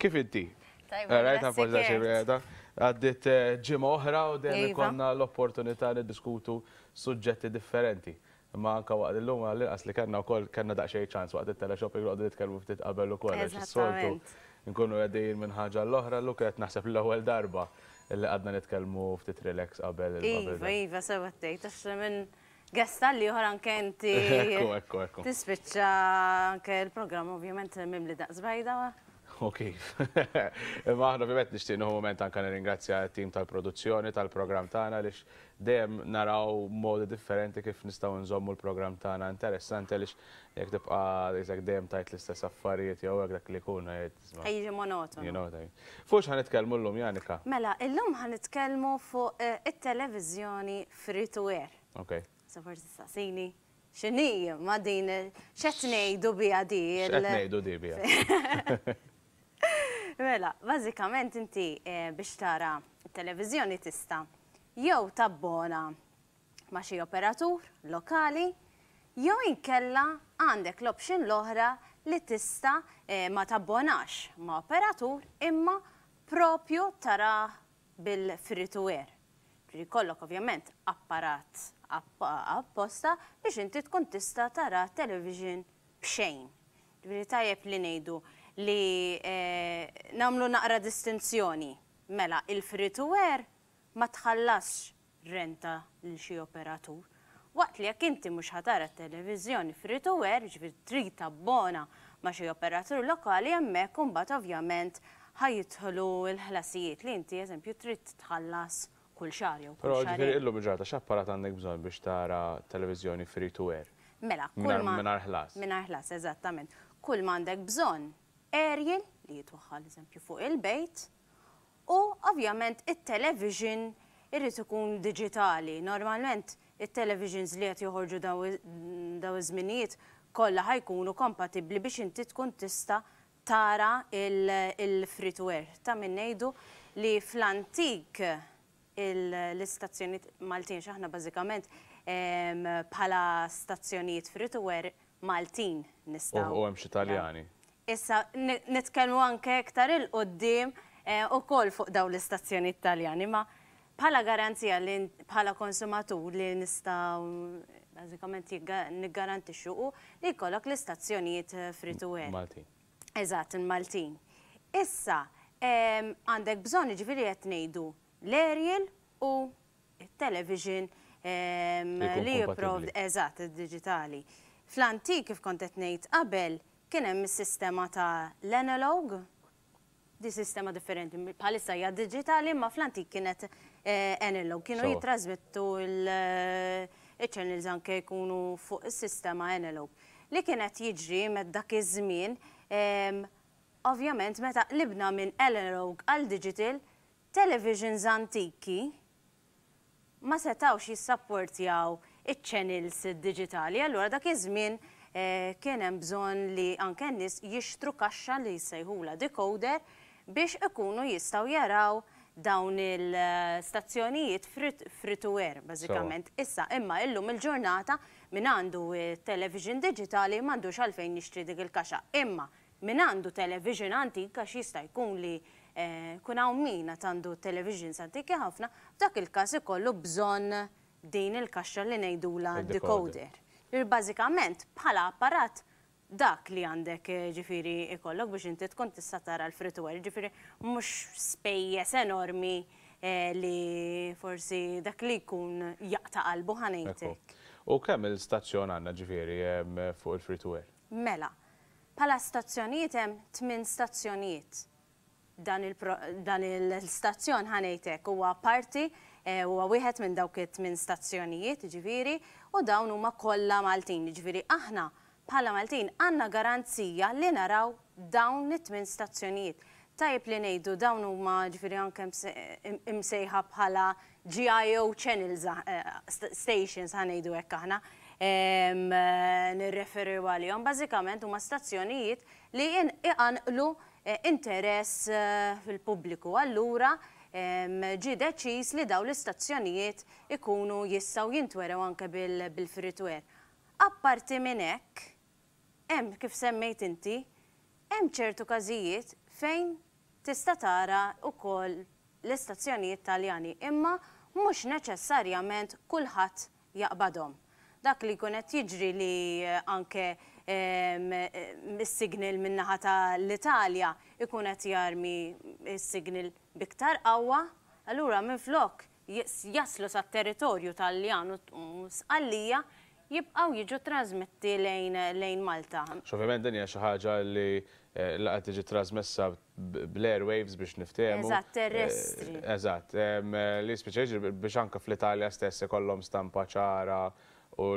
Kif inti? Tajba, grazzi. Għaddit eh, ġimgħa oħra u dejjem iva. ikollna l-opportunità niddiskutu suġġetti differenti. Imma anke waqt illum għall-inqas li kellna wkoll kellna daqsxejn ċans waqt it-teleshopping noqogħdu nitkellmu ftit qabel ukoll għax is-soltu nkunu qegħdin minn ħaġa għall-oħra, llum kienet naħseb l-ewwel darba li qgħadna nitkellmu ftit relax qabel. Iva, iva, sewwa tgħid għax minn guest għall-ieħor anke inti. Ekku, ekku, ekku. Tispiċċa anke l-programm ovvjament mimli daqs bajda. U kif. Imma aħna ovvjament nixtieq nieħu mument anke nirringrazzja t-tim tal-produzzjoni tal-programm tagħna għaliex dejjem naraw modi differenti kif nistgħu nżommu l-programm tagħna interessanti għaliex jekk tibqa' qisek dejjem tgħid l-istess affarijiet jew hekk dak li jkun jgħid isma'. Jiġi monotonu. You know what I mean. Fuq x'ħa nitkellmu llum Janika? Mela, illum ħa nitkellmu fuq it-televiżjoni free to air. Ok. Issa forsi tistaqsini x'inhi ma din x'qed ngħidu biha di. X'qed ngħidu di biha? Mela, bażikament inti biex tara t-televiżjoni tista' jew tabbona ma' xi operatur lokali jew inkella għandek l-option l-oħra li tista' ma tabbonax ma' operatur imma propju tarah bil-free to air. Ġifieri jkollok ovvjament apparat apposta biex inti tkun tista' tara t-television b'xejn. Ġifieri tajjeb li ngħidu li nagħmlu naqra distinzjoni. Mela il-free to air ma tħallasx renta lil xi operatur. Waqt li jekk inti mhux ħa tara t-televiżjoni free to air, jiġifieri trid tabbona ma' xi operatur lokali hemmhekk imbagħad ovvjament ħa jidħlu l-ħlasijiet li inti eżempju trid tħallas kull xahar jew kull Però xahrejn. ġifieri illum il-ġurnata x'apparat għandek bżonn biex tara televiżjoni free to air? Mela, kull ma. Mingħajr ħlas. Mingħajr ħlas, eżattament. Kull ma għandek bżonn aerial li jitwaħħal eżempju fuq il-bejt, U ovvjament it-television irid ikun diġitali. Normalment it-televisions li qed joħorġu daw iż-żminijiet kollha ħa jkunu kompatibbli biex inti tkun tista' tara il-free to air. Ta' min ngħidu li fl-antik l-istazzjonijiet Maltin, għax aħna bażikament bħala stazzjonijiet free to air Maltin nistgħu. U hemm xi Taljani. Issa nitkellmu anke iktar 'il quddiem ukoll fuq dawn l-istazzjonijiet Taljani, imma bħala garanzija li bħala konsumatur li nistgħu bażikament niggarantixxu hu li jkollok l-istazzjonijiet free to air. Maltin. Eżatt, il-Maltin. Issa, għandek bżonn jiġifieri qed ngħidu l-aerial u it-television li jipprovdi, eżatt, id-diġitali. Fl-antik, kif kont qed ngħid qabel, kien hemm is-sistema ta' l-analog, di sistema differenti, bħalissa hija diġitali imma fl-antik kienet analog, kienu jittrażmettu l-channels anke jkunu fuq is-sistema analog. Li kien qed jiġri dak iż-żmien, ovvjament meta qlibna minn analog għal digital, Televisions antiki ma setgħux jissapportjaw iċ-channels diġitali, allura dak iż-żmien kien hemm bżonn li anke n-nies jixtru kaxxa li jsejħulha decoder biex ikunu jistgħu jaraw dawn il-stazzjonijiet free to air bażikament. Issa imma illum il-ġurnata min għandu television diġitali m'għandux għalfejn jixtri dik il-kaxxa. Imma Min għandu television antik, għax jista' jkun li jkun hawn min għad għandu televisions antiki ħafna, f'dak il-każ ikollu bżonn din il-kaxxa li ngħidulha decoder. Ġifieri bażikament bħala apparat dak li għandek ġifieri ikollok biex inti tkun tista' tara l-free to air, ġifieri mhux spejjeż enormi li forsi dak li jkun jaqta' qalbu ħa ngħid hekk. U kemm il-stazzjon għandna ġifieri fuq il-free to air? Mela, Bħala stazzjonijiet hemm tminn stazzjonijiet. Dan il-dan il-stazzjon ħa ngħid hekk huwa parti huwa wieħed minn dawk it-tminn stazzjonijiet, jiġifieri, u dawn huma kollha Maltin. Jiġifieri aħna bħala Maltin għandna garanzija li naraw dawn it-tminn stazzjonijiet. Tajjeb li ngħidu dawn huma jiġifieri anke imsejħa bħala GIO channels, stations ħa ngħidu hekk aħna, nirreferu għalihom, bażikament huma stazzjonijiet li iqanqlu interess fil-pubbliku. Allura ġie deċiż li dawn l-istazzjonijiet ikunu jistgħu jintwerew anke bil-free to air. Apparti minn hekk, hemm kif semmejt inti, hemm ċertu każijiet fejn tista' tara wkoll l-istazzjonijiet Taljani, imma mhux neċessarjament kulħadd jaqbadhom. Dak li jkun qed jiġri li anke is-signal min-naħa ta' l-Italja ikun qed jarmi s-signal b'iktar qawwa, allura minflok jaslu sat-territorju Taljan u Sqallija jibqgħu jiġu trasmetti lejn Malta. Ovvjament din hija xi ħaġa li la qed tiġi trasmessa bl-airwaves biex niftehmu. Eżatt, terrestri. Eżatt, li spiċċa jiġri biex anke fl-Italja stess ikollhom stampa ċara u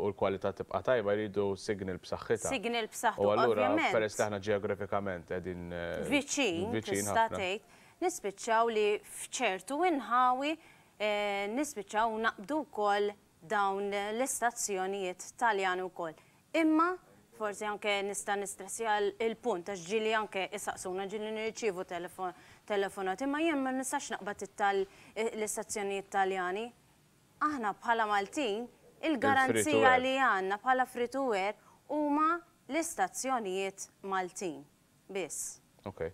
l-kwalità tibqa' tajba jridu signal b'saħħitha. Signal b'saħħtu, ovvjament. U allura peress li aħna ġeografikament qegħdin viċin, tista' tgħid, nispiċċaw li f'ċertu inħawi nispiċċaw naqbdu wkoll dawn l-istazzjonijiet Taljani wkoll. Imma forsi anke nista' nistressja l-punt għax ġieli anke isaqsuna, ġieli nirċievu telefonati, imma jien ma nistax naqbad l-istazzjonijiet Taljani. Aħna bħala Maltin, il-garanzija li għandna bħala free to air huma l-istazzjonijiet Maltin biss. Ok.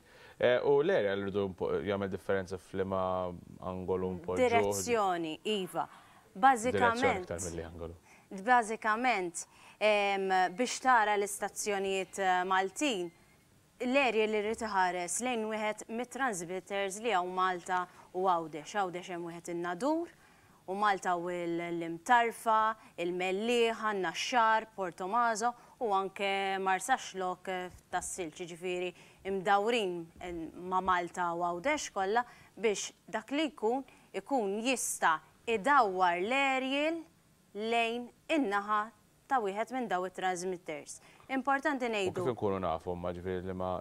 U l-aerial rridu jagħmel differenza f'liema angolu npoġġu? Direzzjoni, iva. Bażikament. Direzzjoni iktar milli angolu. Bażikament, biex tara l-istazzjonijiet Maltin, l-aerial irid iħares lejn wieħed mit-transmitters li hawn Malta u Għawdex. Għawdex hemm wieħed in-Nadur, u Malta u l-Imtarfa, il-Mellieħa, n-Naxxar, Portomaso u anke Marsaxlokk tas-Silġ, jiġifieri imdawrin ma' Malta u Għawdex kollha biex dak li jkun ikun jista' idawwar l-aerial lejn in-naħa ta' wieħed minn daw it-transmitters. Importanti ngħidu. U kif inkunu nafu imma ġifieri liema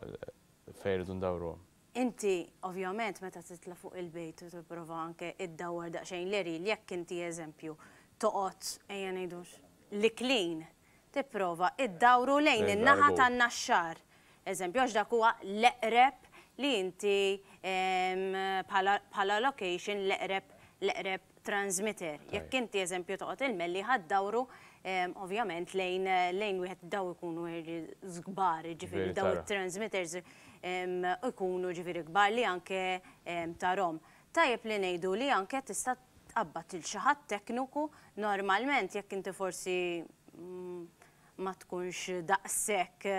fejn irridu ndawruhom? Inti, ovvjament, meta titla' fuq il-bejt u tipprova anke iddawwar daqsxejn l-aerial, jekk inti eżempju toqgħod, ejja ngħidu l-Iklin, tipprova iddawru lejn in-naħa tan-Naxxar, eżempju, għax dak huwa l-eqreb li inti bħala location l-eqreb l-eqreb transmitter. Jekk inti eżempju toqgħod il-Mellieħa ddawru ovvjament lejn lejn wieħed daw ikunu kbar, ġifieri daw it-transmitters ikunu ġifieri kbar li anke tarhom. Tajjeb li ngħidu li anke tista' tqabbad lil xi ħadd tekniku, normalment jekk inti forsi ma tkunx daqshekk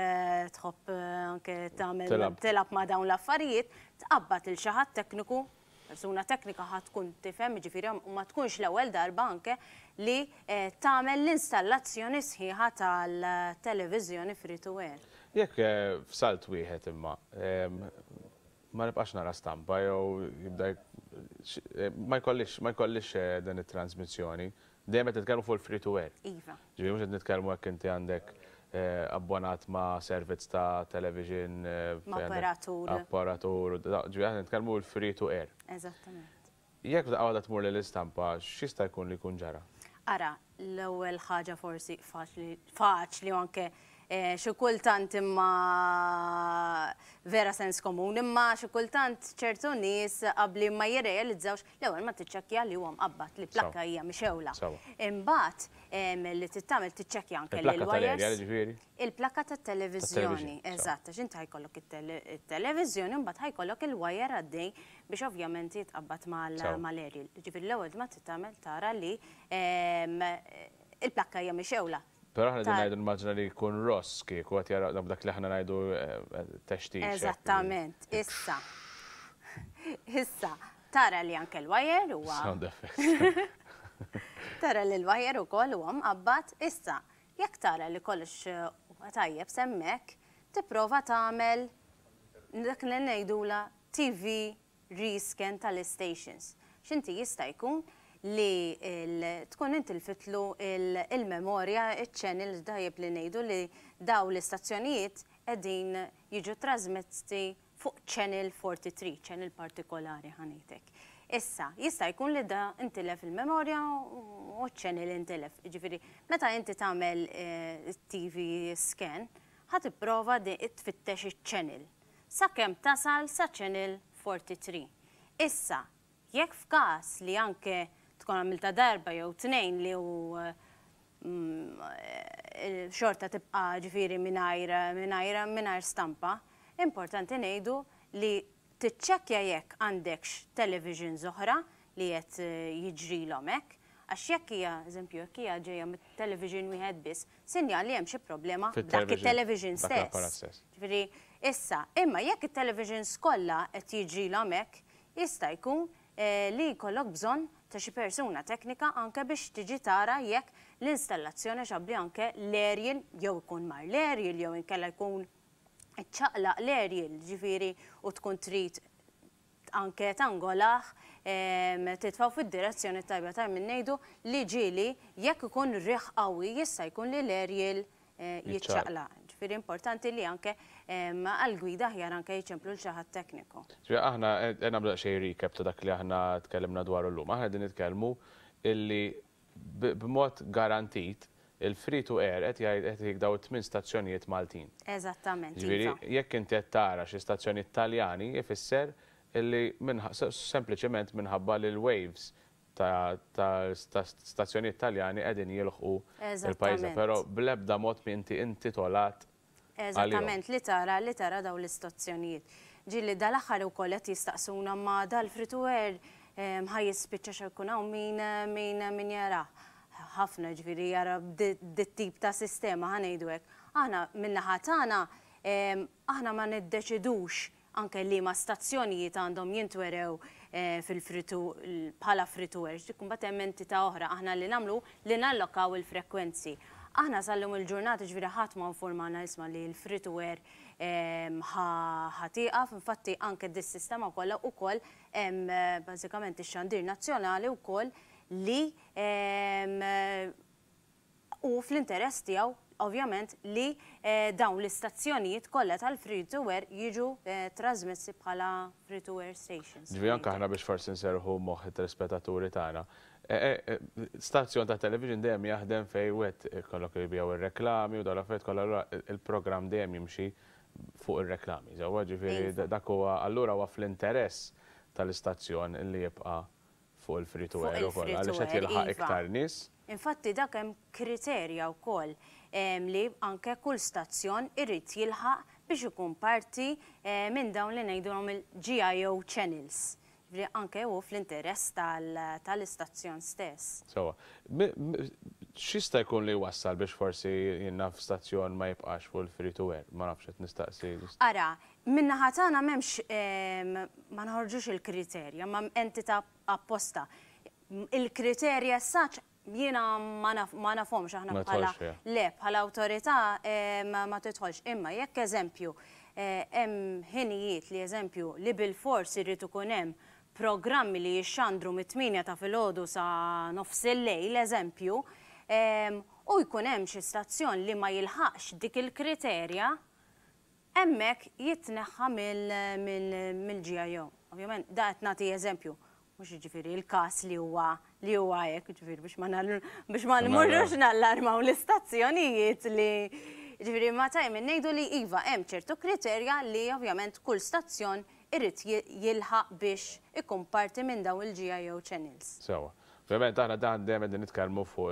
tħobb anke tagħmel tilgħab ma' dawn l-affarijiet, tqabbad lil xi ħadd tekniku, persuna teknika ħa tkun tifhem, jiġifieri u ma tkunx l-ewwel darba anke li tagħmel l-installazzjoni sħiħa tal-televiżjoni free to air. Jekk f'salt wieħed imma ma nibqax nara stampa jew jibda ma jkollix ma jkollix din it-transmissjoni, dejjem qed nitkellmu fuq il-free to air. Iva. Ġifieri mhux qed nitkellmu jekk inti għandek abbonat ma' servizz ta' television. Ma' operatur. Operatur, ġifieri aħna nitkellmu l-free to air. Eżattament. Jekk f'daqqa waħda tmur lill-istampa, x'jista' jkun li jkun ġara? Ara, l-ewwel ħaġa forsi faċli, faċli u anke xi kultant imma vera sens komun, imma xi kultant ċertu nies qabli ma jirrealizzawx, l-ewwel ma tiċċekkja li huwa mqabbad, li plakka hija mixewla. Imbagħad li trid tagħmel tiċċekkja anke li l-wires. Ġifieri? Il-plakka tat-televiżjoni, eżatt, għax inti ħajkollok it-televiżjoni u mbagħad ħajkollok il-wire għaddej biex ovvjament jitqabbad mal-aerial. Ġifieri l-ewwel ma trid tagħmel tara li il-plakka hija mixewla. Però aħna din ngħidu nimmaġina li jkun ross kieku qed jara dak li aħna ngħidu textix. Eżattament, issa. Issa, tara li anke l-wire huwa. Sound effects. Tara li l-wire ukoll huwa mqabbad, issa, jekk tara li kollox huwa tajjeb s'hemmhekk, tipprova tagħmel dak li ngħidula TV rescan tal-istations. X'inti jista' jkun li tkun intilfitlu il-memorja, il-channel, tajjeb li ngħidu li daw l-istazzjonijiet qegħdin jiġu trasmessi fuq channel 43, channel partikolari ħa ngħidlek. Issa, jista' jkun li da intilef il-memorja u channel intilef. Ġifieri, meta inti tagħmel TV scan, ħa tipprova tfittex iċ-channel sakemm tasal sa channel 43. Issa, jekk f'każ li anke tkun għamilta darba jew tnejn li u xorta tibqa' ġifieri mingħajr mingħajr mingħajr stampa, importanti ngħidu li Tiċċekkja jekk għandekx televisions oħra li qed jiġrilhom hekk, għax jekk hija, eżempju, jekk hija ġejja mit-television wieħed biss, sinjal li hemm xi problema b'dak it-television stess. Ġifieri, issa, imma jekk it-televisions kollha qed jiġrilhom hekk, jista' jkun li jkollok bżonn ta' xi persuna teknika anke biex tiġi tara jekk l-installazzjoni għax abbli anke l-aerial jew ikun mar l-aerial jew inkella jkun iċċaqlaq l-aerial, ġifieri u tkun trid anke tangolah, titfgħu fid-direzzjoni t-tajba. Tajjeb min ngħidu li ġieli jekk ikun riħ qawwi jista' jkun li l-aerial jiċċaqlaq. Ġifieri importanti li anke għall-gwida aħjar anke jiċemplu lil xi ħadd tekniku. Ġifieri aħna qed nagħmlu daqsxejn recap ta' dak li aħna tkellimna dwaru llum. Aħna qegħdin nitkellmu illi b'mod garantit il-free to air qed jgħid qed jgħid daw it-tmien stazzjonijiet Maltin. Eżattament, Ġifieri iva. Jekk inti qed tara xi stazzjonijiet Taljani ifisser illi sempliċement minħabba li l-waves ta' stazzjonijiet Taljani qegħdin jilħqu il-pajjiżna, però bl-ebda mod m'inti intitolat għalihom. Eżattament, li tara daw l-istazzjonijiet. Ġieli dal-aħħar ukoll qed jistaqsuna ma dal-free to air ħa jispiċċa xa jkun hawn min jara. Ħafna ġifieri jara dit-tip ta' sistema, ħa ngħidu hekk. Aħna min-naħa tagħna aħna ma niddeċidux anke li ma stazzjonijiet għandhom jintwerew fil-free to bħala free to air, dik mbagħad hemm entità oħra. Aħna li nagħmlu li nallokaw il-frekwenzi. Aħna sal-lum il-ġurnata ġifieri ħadd ma informana isma' li l-free to air ħa tieqaf, infatti anke dis-sistema kollha wkoll hemm bażikament ix-xandir nazzjonali wkoll li u fl-interess tiegħu ovvjament li dawn l-istazzjonijiet kollha tal-free to air jiġu trasmessi bħala free to air stations. Ġifieri anke aħna biex forsi nserħu moħħ it-telespettaturi tagħna. Stazzjon ta' television dejjem jaħdem fejn wieħed ikollok jbiegħu ir-reklami u dawn l-affarijiet kollha, allura il-programm dejjem jimxi fuq ir-reklami. Sewwa, ġifieri dak huwa allura huwa fl-interess tal-istazzjon li jibqa' fuq il-free to air ukoll għaliex qed jilħaq iktar nies. Infatti dak hemm kriterja wkoll li anke kull stazzjon irid jilħaq biex ikun parti minn dawn li ngħidulhom il-GIO channels. Ġifieri anke hu fl-interess tal-istazzjon stess. Sewwa. X'jista' jkun li wassal biex forsi jien naf stazzjon ma jibqax fuq il-free to air? Ma nafx, qed nistaqsi. Ara, min-naħa tagħna m'hemmx, ma nħorġux il-kriterja, ma entità apposta. Il-kriterja saċ jiena ma nafhomx aħna Ma bħala tidħolx fiha. Le, bħala awtorità ma tidħolx. Imma jekk eżempju hemm ħinijiet li eżempju li bil-fors irid ikun hemm programmi li jixxandru mit-8 ta' filgħodu sa nofs il-lejl eżempju, u jkun hemm xi stazzjon li ma jilħaqx dik il-kriterja, hemmhekk jitneħħa mill-GIO. Ovvjament, da qed nagħti eżempju, mhux jiġifieri il-każ li huwa hekk, jiġifieri biex ma nmurrux nallarmaw l-istazzjonijiet li jiġifieri ma tajjeb ngħidu li iva hemm ċertu kriterja li ovvjament kull stazzjon irid jilħaq biex ikun parti minn dawn il-GIO channels. Sewwa. Ovvjament aħna dan dejjem qegħdin nitkellmu fuq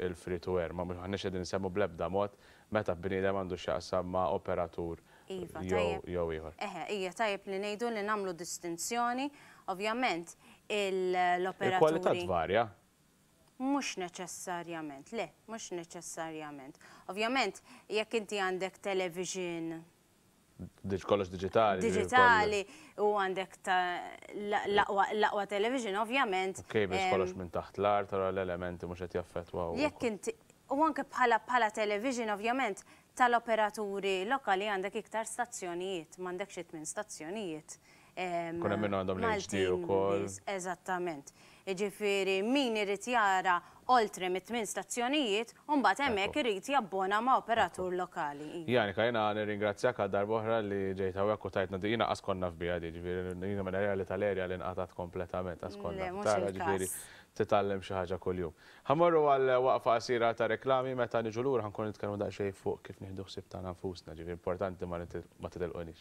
il-free to air, ma mhux aħniex qegħdin nsemmu bl-ebda mod meta bniedem għandu x'jaqsam ma' operatur jew jew ieħor. Eħe, hija tajjeb li ngħidu li nagħmlu distinzjoni, ovvjament l-operaturi. Il-kwalità tvarja. Mhux neċessarjament, le, mhux neċessarjament. Ovvjament, jekk inti għandek television Kollox diġitali. Diġitali u għandek l-aqwa television, ovvjament. Cables kollox minn taħt l-art, tara l-elementi mhux qed jaffettwaw. Jekk inti u anke bħala television, ovvjament, tal-operaturi lokali għandek iktar stazzjonijiet, m'għandekx it-tmien stazzjonijiet. Kun hemm minnu għandhom l-HD ukoll. Eżattament. Jiġifieri min irid jara oltre mit-tmien stazzjonijiet, u mbagħad hemmhekk irid jabbona ma' operatur lokali. Janika, jiena nirringrazzjak għal darb'oħra li ġejt hawnhekk u tajtna di, jiena qas konna fbiha di, ġifieri jiena minn li tal-erja li nqatat kompletament, qas konna. Le, mhux Tara, il-każ. Ġifieri titgħallem xi ħaġa kuljum. Ħa mmorru għal waqfa qasira ta' reklami. Meta niġu lura ħa nkun nitkellmu daqsxejn fuq kif nieħdu ħsieb tagħna nfusna, ġifieri importanti, ma titilqunix.